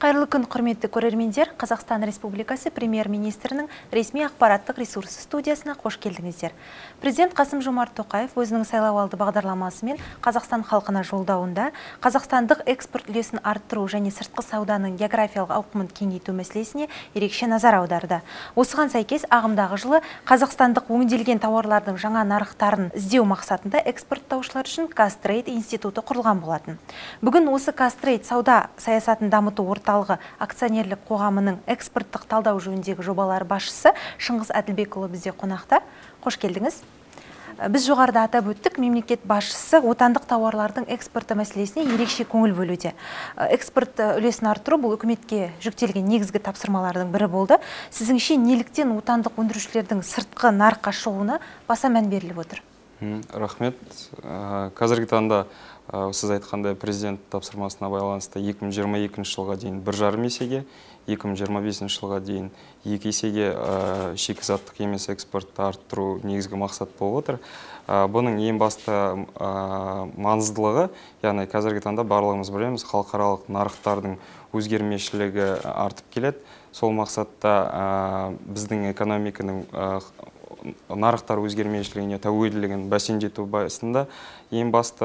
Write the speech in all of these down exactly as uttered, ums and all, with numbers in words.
Қайырлы күн, құрметті көрермендер. Қазақстан Республикасы Премьер-министрінің ресми ақпараттық ресурсы студиясына қош келдіңіздер. Президент Қасым-Жомарт Тоқаев өзінің сайлауалды бағдарламасымен Қазақстан халқына жолдауында қазақстандық экспорт үлесін арттыру және сыртқы сауданың географиялық ауқымын кеңейту мәселесіне ерекше назар аударды. Осыған сәйкес ағымдағы жылы қазақстандық өңделген тауарлардың жаңа нарықтарын іздеу мақсатында экспорттаушылар үшін Казтрейд институты құрылған болатын. Бүгін осы Казтрейд сауда саясатын дамыту орталығы акционерлік қоғамының экспорттық талдау жөніндегі жобалар басшысы Шыңғыс Әділбекұлы бізде қонақта. Қош келдіңіз. Біз жоғарыда атап өттік, мемлекет басшысы отандық тауарлардың экспорты мәселесіне ерекше көңіл бөлуде. Экспорт үлесін арттыру бұл үкіметке жүктелген негізгі тапсырмалардың бірі болды. Сізіңше неліктен отандық өндірушілердің сыртқы нарыққа шығуына баса мән беріліп отыр? Рахмет. Қазіргі таңда сіз айтқандай президент тапсырмасына байланысты екі мың жиырма екінші жылға дейін бір жарым есеге, екі мың жиырма бесінші жылға дейін екі есеге шикізаттық емес экспортты арттыру негізгі мақсат болып отыр. Бұның ең басты маңыздылығы, яғни қазіргі таңда барлығымыз білеміз, халықаралық нарықтардың өзгермешілігі артып келеді. Сол мақсатта біздің экономиканың нарықтар өзгермешілігіне тәуелділігін бәсеңдету барысында ең басты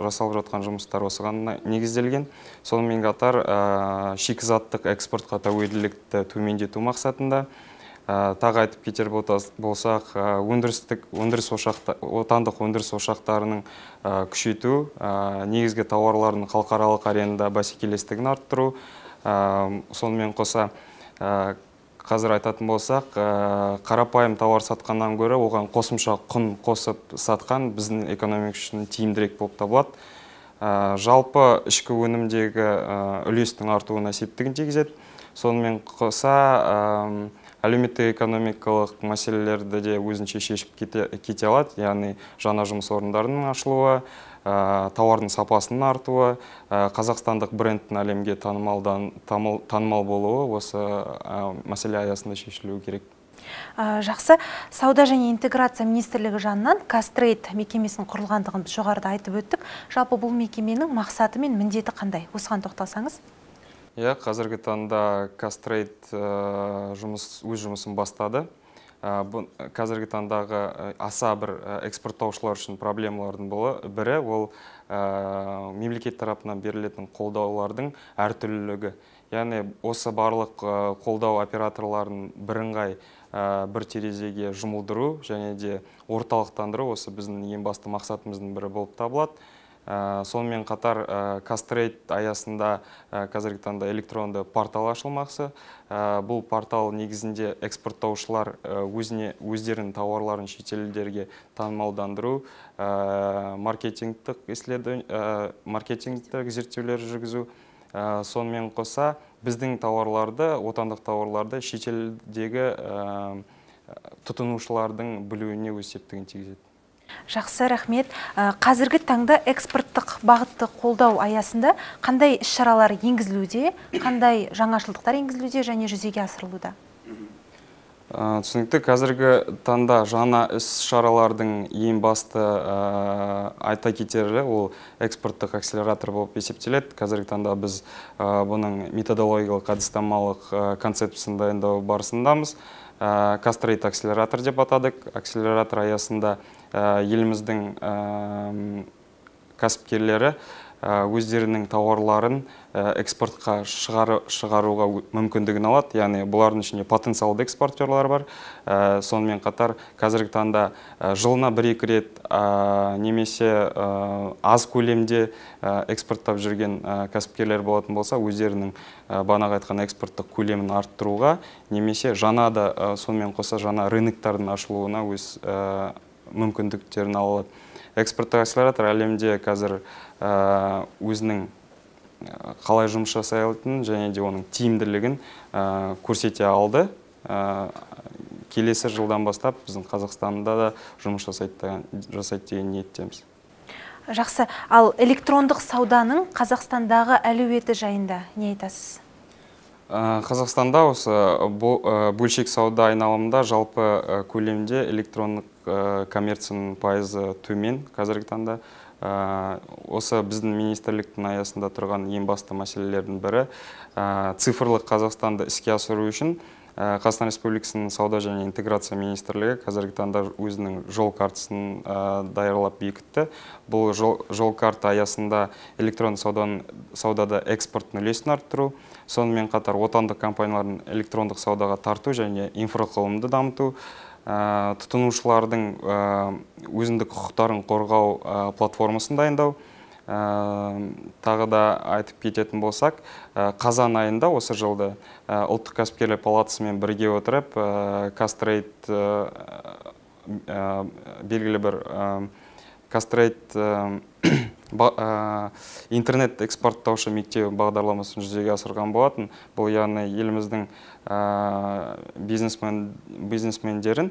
жасалып жатқан жұмыстар осыған негізделген. Сонымен қатар шикізаттық экспортқа тәуелділікті төмендету мақсатында тағы айтып кетер болсақ, өндірістік өндіріс ошақтары, отандық өндіріс ошақтарының күшейту, негізгі тауарлардың халықаралық аренада бәсекелестігін арттыру, сонымен қоса қазір айтатын болсақ, қарапайым тауар сатқаннан гөрі оған қосымша құн қосып сатқан біздің экономика үшін тиімдірек болып табылады. Жалпы ішкі өнімдегі үлестің артуына септігін тигізеді. Сонымен қоса әлеуметтік экономикалық мәселелерді де өзінше шешіп кете алады, яғни жаңа жұмыс орындарының ашылуы, тауардың сапасының артуы, қазақстандық брендтің әлемге танымал болуы осы мәселе аясында шешілуі керек. Жақсы. Сауда және интеграция министрлігі жанынан Казтрейд мекемесінің құрылғандығын біз жоғарыда айтып өттік. Жалпы бұл мекеменің мақсаты мен міндеті қандай? Осыған тоқталсаңыз? Иә, қазіргі таңда Казтрейд өз жұмысын бастады. Қазіргі таңдағы аса бір экспорттаушылар үшін проблемалардың бірі, ол мемлекет тарапынан берілетін қолдаулардың әртүрлілігі. Яғни осы барлық қолдау операторларын бірыңғай бір терезеге жұмылдыру және де орталықтандыру осы біздің ең басты мақсатымыздың бірі болып табылады. Сонымен қатар Казтрейд аясында қазіргі таңда электронды портал ашылмақшы. Бұл портал негізінде экспорттаушылар өздерінің тауарларын шетелдерге танымалдандыру, маркетингтік зерттеулер жүргізу. Сонымен қоса біздің тауарларды, отандық тауарларды шетелдегі тұтынушылардың білуіне өз септігін тигізеді. Жақсы, рахмет. Қазіргі таңда экспорттық бағытты қолдау аясында қандай іс-шаралар енгізілуде, қандай жаңашылдықтар енгізілуде және жүзеге асырылуда? Түсінікті, қазіргі таңда жаңа іс-шаралардың ең басты айта кетері ол экспорттық акселератор болып есептеледі. Қазіргі таңда біз бұның методологиялық әдіснамалық концепциясын дайындау барысындамыз. Казтрейд акселератор деп атадық. Акселератор аясында еліміздің кәсіпкерлері өздерінің тауарларын экспортқа шығаруға мүмкіндігін алады. Яғни бұлардың ішінде потенциалды экспортерлар бар. Сонымен қатар қазіргі таңда жылына бір-екі рет немесе аз көлемде экспорттап жүрген кәсіпкерлер болатын болса, өздерінің бағанағы айтқан экспорттық көлемін арттыруға немесе жаңа да сонымен қоса жаңа рыноктардың ашылуына өз мүмкіндіктерін алады. Экспорттық акселератор әлемде қазір өзінің қалай жұмыс жасай алатынын және де оның тиімділігін көрсете алды. Келесі жылдан бастап біздің Қазақстанда да жұмыс жасайды деген ниеттеміз. Жақсы. Ал электрондық сауданың Қазақстандағы әлеуеті жайында не айтасыз? Қазақстанда осы бөлшек сауда айналымында жалпы көлемде электрондық коммерцияның пайызы төмен қазіргі таңда. Осы біздің министрліктің аясында тұрған ең басты мәселелердің бірі цифрлық Қазақстанды іске асыру үшін Қазақстан Республикасының сауда және интеграция министрлігі қазіргі таңда өзінің жол картасын даярлап бекітті. Бұл жол карта аясында электронды саудада экспорттың үлесін арттыру, сонымен қатар отандық компаниялардың электрондық саудаға тарту және инфрақұрылымды дамыту, тұтынушылардың өзіндік құқықтарын қорғау платформасын дайындау. Тағы да айтып кететін болсақ, қазан айында осы жылды ұлттық кәсіпкерлер палатасымен бірге отырып, Кастрейт белгілі бір Кастрейт интернет экспорттаушы мектебі бағдарламасын жүзеге асырған болатын. Бұл яғни еліміздің бизнесмендерін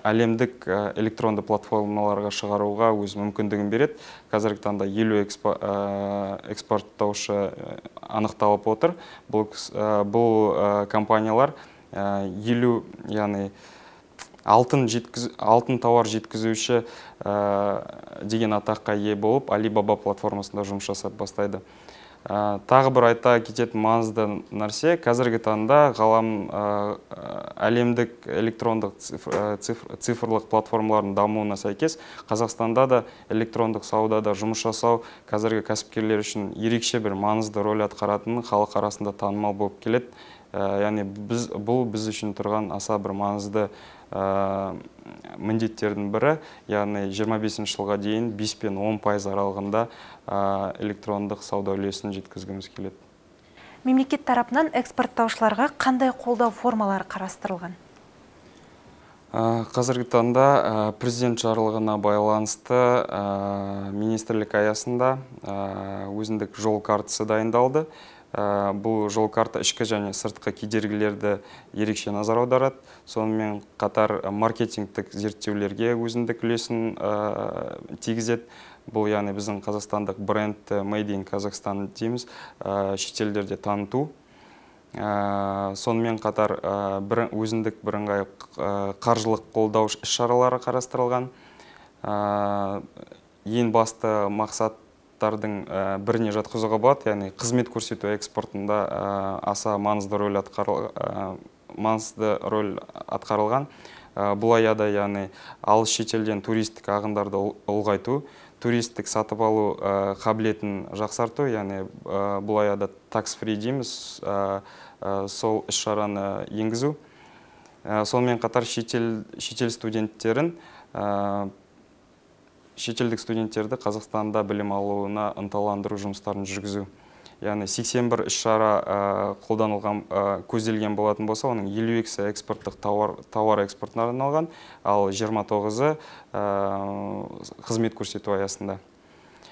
әлемдік электронды платформаларға шығаруға өз мүмкіндігін береді. Қазіргі таңда елу экспорттаушы анықталып отыр. Бұл компаниялар елу, яғни алтын тауар жеткізуші деген атаққа ие болып, Alibaba платформасында жұмыс жасап бастайды. Тағы бір айта кететін маңызды нәрсе, қазіргі таңда ғалам әлемдік электрондық цифрлық платформалардың дамуына сәйкес, Қазақстанда да электрондық саудада жұмыс жасау қазіргі кәсіпкерлер үшін ерекше бір маңызды рөл атқаратынын халық арасында танымал болып келеді. Яғни бұл біз үшін тұрған аса бір маңызды міндеттердің бірі, яғни жиырма бесінші жылға дейін бес пен он пайыз аралығында электрондық сауда үлесін жеткізгіміз келеді. Мемлекет тарапынан экспорттаушыларға қандай қолдау формалары қарастырылған? Қазіргі таңда президент жарлығына байланысты министрлік аясында өзіндік жол картасы дайындалды. Бұл жол карта ішкі және сыртқы кедергілерді ерекше назар аударады. Сонымен қатар маркетингтік зерттеулерге өзіндік үлесін тигізеді. Бұл яғни біздің қазақстандық бренд Made in Kazakhstan дейміз, шетелдерде таныту. Сонымен қатар өзіндік бірыңғай қаржылық қолдау іс-шаралары қарастырылған. Ең басты мақсат біріне жатқызуға болады, яғни қызмет көрсету экспортында аса маңызды рөл атқарылған. Бұл аяда, яғни алыс шетелден туристік ағындарды ұлғайту, туристік сатып алу қабілетін жақсарту, яғни бұл аяда tax-free дейміз, сол іс-шараны енгізу. Сонымен қатар шетел студенттерін шетелдік студенттерді Қазақстанда білім алуына ынталандыру жұмыстарын жүргізу. Яғни сексен бір іс-шара қолданылған, көзделген болатын болса, оның елу екісі экспорттық тауар экспортына арналған, ал жиырма тоғызы қызмет көрсету аясында.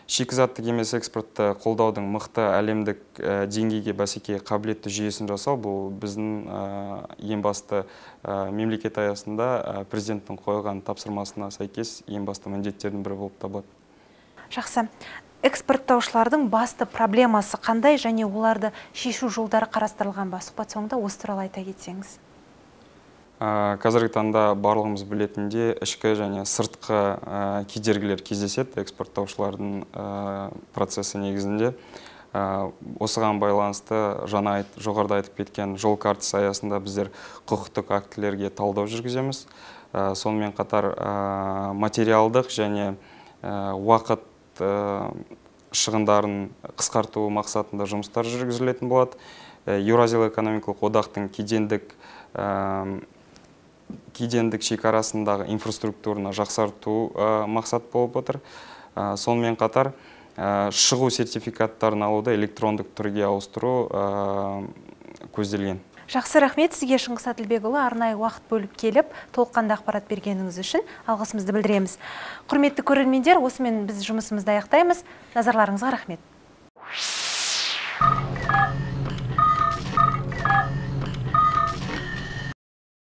Шикізаттық емес экспортты қолдаудың мықты әлемдік деңгейге бәсекеге қабілетті жүйесін жасау, бұл біздің ең басты мемлекет аясында президенттің қойған тапсырмасына сәйкес ең басты міндеттердің бірі болып табылады. Жақсы. Экспорттаушылардың басты проблемасы қандай және оларды шешу жолдары қарастырылған ба? Сұхбат соңында осы туралы айта кетсеңіз. Қазіргі таңда барлығымыз білетінде ішкі және сыртқы кедергілер кездеседі экспорттаушылардың процесі негізінде. Осыған байланысты жаңа жоғарыда айтып кеткен жол картасы аясында біздер құқықтық актілерге талдау жүргіземіз. Сонымен қатар материалдық және уақыт шығындарын қысқарту мақсатында жұмыстар жүргізілетін болады. Еуразиялық экономикалық одақтың кедендік кедендік шекарасындағы инфраструктураны жақсарту мақсат болып отыр. Сонымен қатар шығу сертификаттарын алуды электрондық түрге ауыстыру көзделген. Жақсы, рахмет сізге, Шыңғыс Әділбекұлы, арнайы уақыт бөліп келіп, толыққанды ақпарат бергеніңіз үшін алғысымызды білдіреміз. Құрметті көрермендер, осымен біз жұмысымызды аяқтаймыз. Назарларыңызға рахмет.